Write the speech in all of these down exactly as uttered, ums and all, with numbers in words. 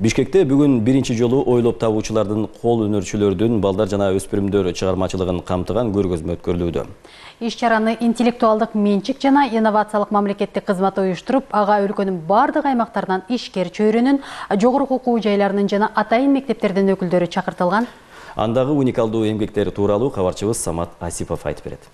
Бишкекте бүгүн биринчи жолу ойлоп табуучулардын, кол өнөрчүлөрдүн, балдар жана өспүрүмдөр чыгармачылыгын камтыган көргөзмө өткөрүлүүдө. Иш-чараны интеллектуалдык менчик жана инновациялык мамлекеттик кызмат уюштуруп, ага өлкөнүн бардык аймактарынан ишкер чөйрөнүн, жогорку окуу жайларынын жана атайын мектептердин өкүлдөрү чакыртылган. Андагы уникалдуу эмгектер тууралуу кабарчыбыз Самат Асипов айтып берет.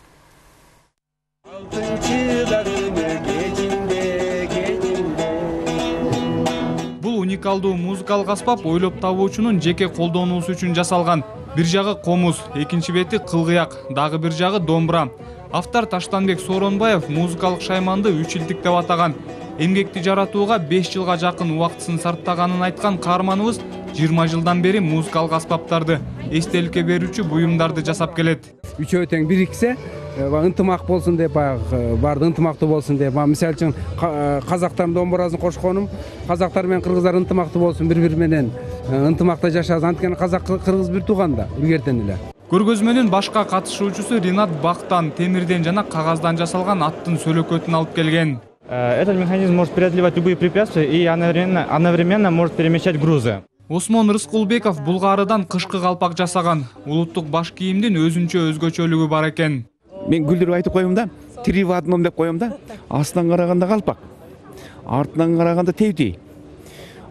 Уникалдуу музыкалык аспап ойлоп табуучунун жеке колдонуусу үчүн жасалган. Бир жагы комуз, экинчи бети кылгыяк, дагы бир жагы домбура. Автор Таштанбек Сооронбаев музыкалык шайманды үч илдик деп атаган. Эмгекти жаратууга беш жылга жакын убактысын сарптаганын айткан каарманыбыз жыйырма жылдан бери музыкалык аспаптарды, эстеликке берүүчү буюмдарды жасап келет. Үчөө тең бириксе, ынтымак болсун деп, барды ынтымактуу болсун деп, мисалы үчүн казактардын домбурасын кошконум, казактар менен кыргыздар ынтымактуу болсун, бири-бири менен ынтымакта жашасын. Анткени казак кыргыз бир тууган да, илгертен эле. Көргөзмөнүн башка катышуучусу Ринат бактан, темирден жана кагаздан жасалган аттын сөлөкөтүн алып келген. Этот механизм может преодолевать любые препятствия и одновременно, одновременно может перемещать грузы. Осмон Рыскулбеков Булгарыдан кышкы калпак жасаган. Улуттук баш кийимдин өзүнчө өзгөчөлүгү бар экен. Мен күлдүрүп айтып коем да, тири в одном деп коем да. Астынан караганда калпак, артынан караганда тевдей.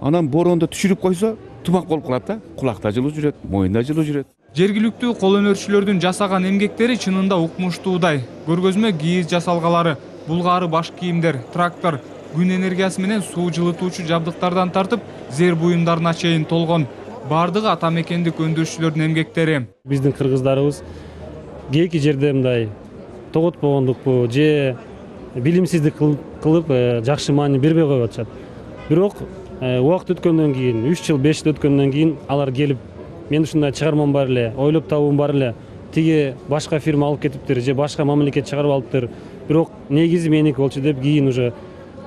Анан борондо түшүрүп койсо, тумак болуп калат да. Кулакта жылуу жүрөт, моюнда жылуу жүрөт. Жергиликтүү кол өнөрчүлөрдүн жасаган эмгектери чынында укмуштуудай. Көргөзмө кийиз жасалгалары, булгары баш кийимдер, трактор, күн энергиясы менен суу жылытуучу жабдыктардан тартып, зер буюмдарына чейин толгон. Бардыгы ата мекендик өндүрүшчүлөрдүн эмгектери. Биздин кыргыздарыбыз кээки жерде мындай тоготпогондукпу же билимсиздик кылып жакшы маани бербей коюп атышат. Бирок убакыт өткөндөн кийин, үч жыл, беш жыл өткөндөн кийин алар келип, мен ушундай чыгармам бар эле, ойлоп табуум бар эле, тиги башка фирма алып кетиптир же башка мамлекет чыгарып алыптыр. Бирок негизи меники болчу деп кийин уже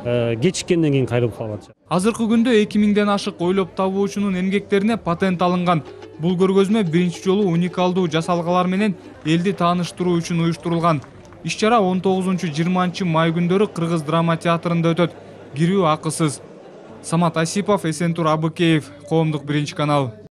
кечиккенден кийин кайрылып калып атышат. Азыркы күндө эки миңден ашык ойлоп табуучунун эмгектерине патент алынган. Бул көргөзмө биринчи жолу уникалдуу жасалгалар менен элди тааныштыруу үчүн уюштурулган. Иш-чара он тогузунчу жыйырманчы май күндөрү Кыргыз драма театрында өтөт. Кирүү акысыз. Самат Асипов, Эсентур Абыкеев, Коомдук биринчи канал.